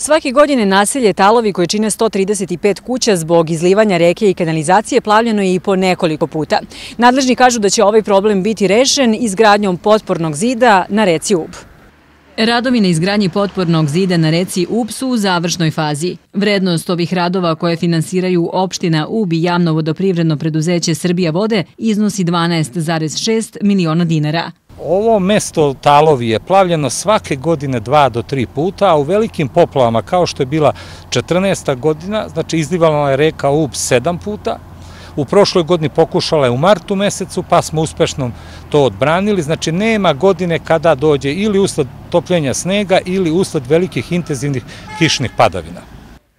Svake godine naselje Talovi, koje čine 135 kuća, zbog izlivanja reke i kanalizacije plavljeno je i po nekoliko puta. Nadležni kažu da će ovaj problem biti rešen izgradnjom potpornog zida na reci Ub. Radovi na izgradnji potpornog zida na reci Ub su u završnoj fazi. Vrednost ovih radova koje finansiraju opština Ub i javno vodoprivredno preduzeće Srbija vode iznosi 12,6 miliona dinara. Ovo mesto Talovi je plavljeno svake godine 2 do 3 puta, a u velikim poplavama, kao što je bila 14. godina, znači izlivala je reka Ub 7 puta. U prošloj godini pokušala je u martu mesecu, pa smo uspešno to odbranili. Znači nema godine kada dođe ili usled topljenja snega ili usled velikih intenzivnih kišnih padavina.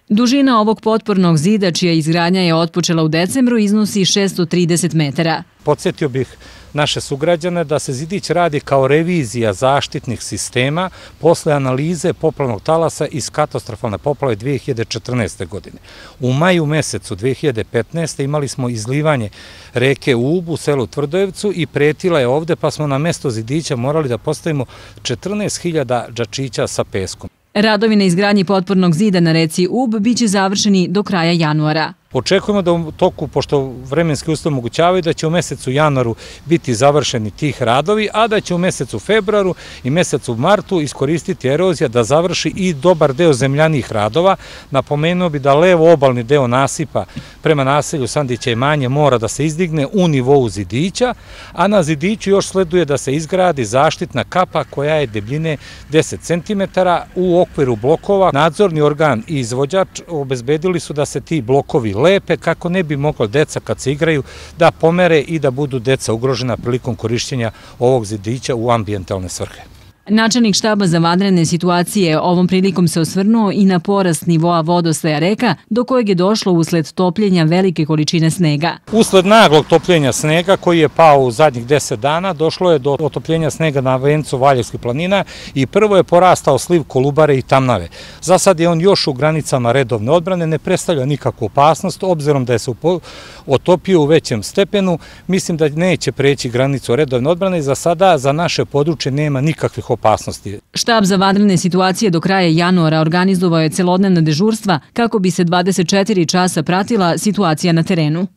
Dužina ovog potpornog zida, čija izgradnja je otpočela u decembru, iznosi 630 metara. Podsjetio bih naše sugrađane da se zidić radi kao revizija zaštitnih sistema posle analize poplavnog talasa iz katastrofalne poplave 2014. godine. U maju mesecu 2015. imali smo izlivanje reke Ub u selu Tvrdojevcu i pretila je ovde, pa smo na mesto zidića morali da postavimo 14.000 džačića sa peskom. Radovi na izgradnji potpornog zida na reci Ub biće završeni do kraja januara. Očekujemo da u toku, pošto vremenski uslovi omogućavaju, da će u mesecu januaru biti završeni tih radovi, a da će u mesecu februaru i mesecu martu iskoristiti erozija da završi i dobar deo zemljanih radova. Napomenuo bi da levo obalni deo nasipa prema naselju Sandića i Manje mora da se izdigne u nivou zidića, a na zidiću još sleduje da se izgradi zaštitna kapa koja je debljine 10 cm u okviru blokova. Nadzorni organ i izvođač obezbedili su da se ti blokovi lepe kako ne bi mogla deca kad se igraju da pomere i da budu deca ugrožena prilikom korišćenja ovog zidića u ambijentalne svrhe. Načelnik štaba za vanredne situacije ovom prilikom se osvrnuo i na porast nivoa vodostaja reka, do kojeg je došlo usled topljenja velike količine snega. Usled naglog topljenja snega koji je pao u zadnjih 10 dana, došlo je do otopljenja snega na vencu Valjevskih planina i prvo je porastao sliv Kolubare i Tamnave. Za sad je on još u granicama redovne odbrane, ne predstavlja nikakvu opasnost, obzirom da je se otopio u većem stepenu. Mislim da neće preći granicu redovne odbrane i za sada za naše područje nema nikakvih opasnosti. Štab za vanredne situacije do kraja januara organizovao je celodnevna dežurstva kako bi se 24 časa pratila situacija na terenu.